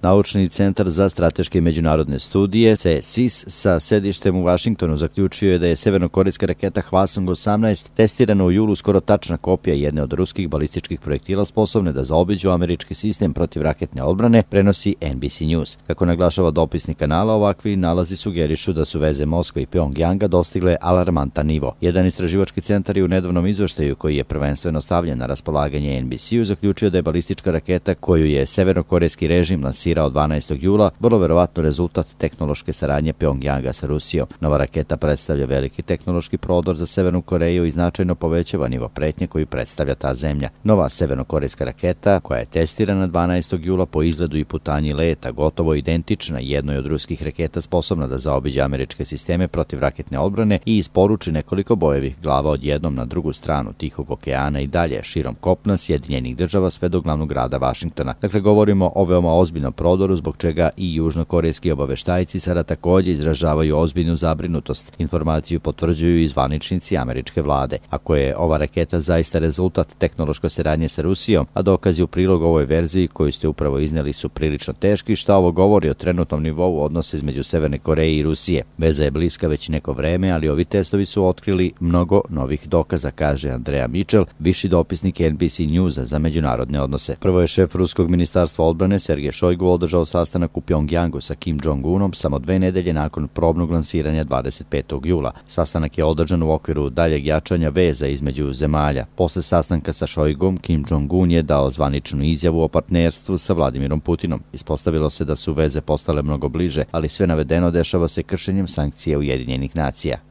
Naučni centar za strateške i međunarodne studije, CSIS, sa sedištem u Vašingtonu zaključio je da je severnokorejska raketa Hwasong-18 testirana u julu skoro tačna kopija jedne od ruskih balističkih projektila sposobne da zaobiđu američki sistem protivraketne odbrane, prenosi NBC News. Kako naglašava dopisnik kanala, ovakvi nalazi sugerišu da su veze Moskve i Pjongjanga dostigle alarmantan nivo. Jedan istraživački centar je u nedavnom izveštaju, koji je prvenstveno stavljen na raspolaganje NBC-u, zaključio da je balistička raketa koju je severnokorejski režim lansirao 12. jula vrlo verovatno rezultat tehnološke saradnje Pjongjanga sa Rusijom. Nova raketa predstavlja veliki tehnološki prodor za Severnu Koreju i značajno povećava nivo pretnje koju predstavlja ta zemlja. Nova severnokorejska raketa, koja je testirana 12. jula po izgledu i putanji leta, gotovo identična jednoj od ruskih raketa sposobna da zaobiđe američke sisteme protivraketne odbrane i isporuči nekoliko bojevih glava odjednom na drugu stranu Tihog okeana i dalje širom kopna Sjedinjenih država sve do glavnog grada Vašingtona. Dakle, govorimo o veoma ozbiljnom prodoru, zbog čega i južnokorejski obaveštajci sada također izražavaju ozbiljnu zabrinutost. Informaciju potvrđuju i zvaničnici američke vlade. Ako je ova raketa zaista rezultat tehnološke saradnje sa Rusijom, a dokazi u prilog ovoj verziji koju ste upravo iznijeli su prilično teški, šta ovo govori o trenutnom nivou odnosa između Severne Koreje i Rusije. Veza je bliska već neko vreme, ali ovi testovi su otkrili mnogo novih dokaza, kaže Andrea Mitchell, viši dopisnik NBC Newsa za međunarodne odnose. Prvo je šef ruskog ministarstva odbrane Sergej Šojgu održao sastanak u Pjongjangu sa Kim Jong-unom samo 2 nedelje nakon probnog lansiranja 25. jula. Sastanak je održan u okviru daljeg jačanja veza između zemalja. Posle sastanka sa Šojgom, Kim Jong-un je dao zvaničnu izjavu o partnerstvu sa Vladimirom Putinom. Ispostavilo se da su veze postale mnogo bliže, ali sve navedeno dešava se kršenjem sankcija Ujedinjenih nacija.